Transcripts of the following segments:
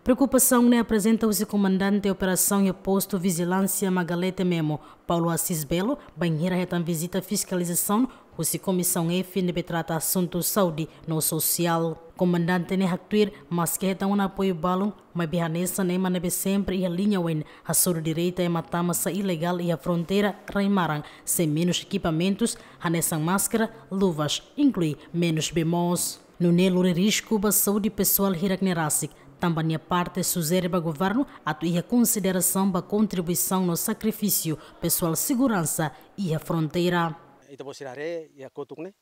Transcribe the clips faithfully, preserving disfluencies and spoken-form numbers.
Preokupasaun ne'e aprezenta husi Komandante Operasaun iha Postu Vijilánsia Magalete Memo, Paulo Assis Belo, bainhira hetan vizita fiskalizasaun husi Komisaun F ne'ebé trata asuntu saúde no sosiál. Komandante ne'e haktuir, maski hetan ona apoiu balun, maibé hanesan ema ne'ebé sempre iha liña oin hasoru direitu ema tama sai ilegál iha fronteira rai-maran, sei menus ekipamentus, hanesan máskara, luvas, inklui menus bee moos. Nune'e lori risku ba saúde pesoál hirak-ne'e rasik, tanba nia parte sujere ba governu atu iha konsiderasaun ba kontribuisaun no sakrifísiu pesoál seguransa iha fronteira. Ita-boot sira haree iha kotuk ne'e,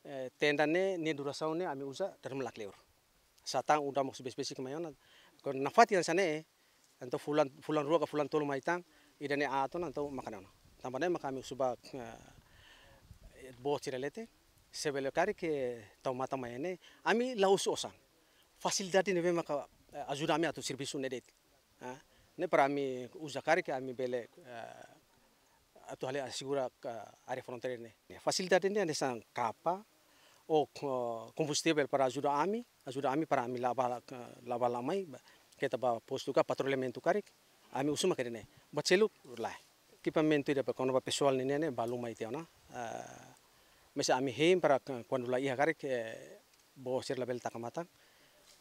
eh, tenda ne'e, nia durasaun ne'e ami uza dala ruma lakleur. Satán udan mós besik-besik mai ona. Kuandu nafatin hanesan ne'e, entaun fulan, fulan rua ka fulan tolu mai tan, ida-ne'e aat ona, entaun mak ne'e ona. Tanba ne'e maka ami husu ba, eh, boot sira leten, se bele karik tau matan mai ne'e, ami la husu osan. Fasilidade ne'ebé maka, eh, ajuda ami atu servisu ne'e de'it. Ah, ne'e para ami uza karik ami bele, eh, atu halo asegura ka área fronteira ne'e. Fasilidade ne'e hanesan kapa, ou, eh, kombustivel para ajuda ami, ajuda ami para ami la'o ba, eh, la'o ba la'o mai, ba, keta ba postu ka patrulhamentu karik, ami husu maka ida-ne'e. Ba seluk lae. Ekipamentu ida ba kona-ba pesoál ne'e ne'e balun mai tiha ona. Eh, maibé ami hein para, eh, kuandu la iha karik, eh, boot sira labele taka matan.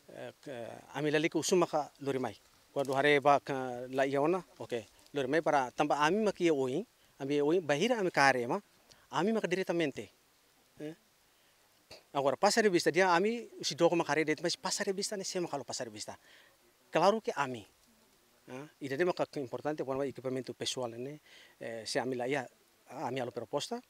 Eh, ke, ami lalika husu maka lori mai. Kuandu haree ba ka la iha ona, oke, lori mai para tanba ami mak iha oin, ami iha oin, bainhira ami kaer ema, ami maka diretamente. Eh? Agora, pasa revista dehan ami husi doko mak haree de'it, maibé pasa revista ne'e sé mak halo pasa revista? Klaru ke ami. Ah, ida-ne'e maka ke importante, kuandu ekipamentu pesoál ne'e, eh, se ami la iha, ah, ami halo proposta,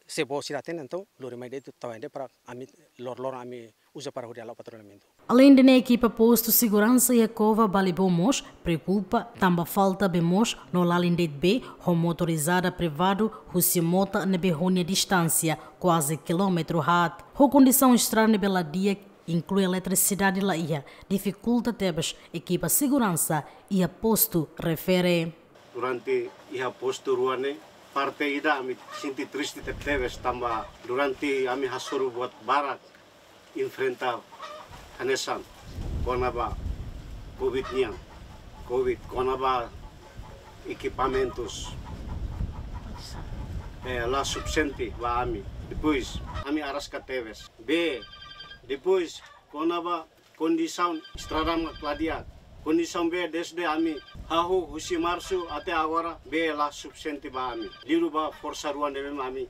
se boot sira hatene, entaun lori mai de'it tau ende para ami lor-loron ami uza para hodi halo patrulhamentu. Aleinde ne'e, ekipa postu seguransa iha Kova Balibó mós preokupa tanba falta bee moos no lalin de'it bee ho motorizada privadu husi mota ne'ebé ho nia distánsia kuaze kilómetru haat. Ho kondisaun estrada ne'ebé la di'ak, inklui eletrisidade la iha, difikulta tebes ekipa seguransa iha postu refere. Durante iha postu rua ne'e, parte ida ami sente triste te-, tebes tanba durante ami hasoru buat barak enfrenta hanesan kona-ba Covid nian, Covid, kona-ba ekipamentus, eh, la sufisiente ba ami. Depois, ami araska tebes. Bee, depois, kona-ba kondisaun estrada mak la di'ak. Kondisaun bee desde ami hahú husi Marsu até agora bee la sufisiente ba ami. Liuliu ba forsa rua ne'ebé mak ami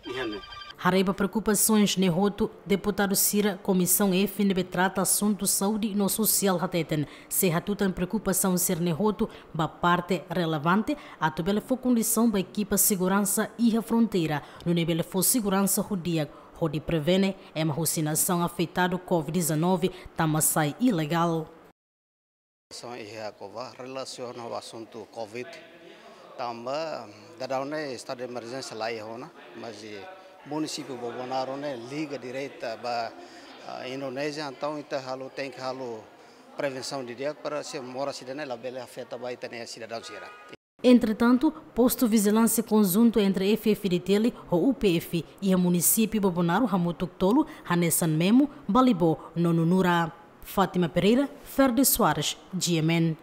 iha ne'e. Haree ba preokupasoens ne'e hotu, deputadu sira Komisaun F ne'ebé trata asuntu saúde no sosiál hateten, sei hatutan preokupasaun sira-ne'e hotu ba parte relevante atu bele fó kondisaun ba ekipa seguransa iha fronteira, nune'e bele fó seguransa ho di'ak, hodi prevene ema husi nasaun afetadu Covid dezanove tama sai ilegál. São iha Kova relasiona ho asuntu Covid. Tanba daudaun ne'e estadu de emerjénsia la iha ona, maibé munisípiu Bobonaro ne'e liga direta ba, ah, Indonézia, entaun ita halo, tenke halo prevensaun didi'ak para se moras ida-ne'e labele afeta ba ita-nia sidadaun sira. Entretantu, postu vijilánsia konjuntu entre F-FDTL ho U P F iha munisípiu Bobonaro hamutuk tolu, hanesan Memo, Balibó no Nunura. Fátima Pereira, Ferdi Soares, G M N.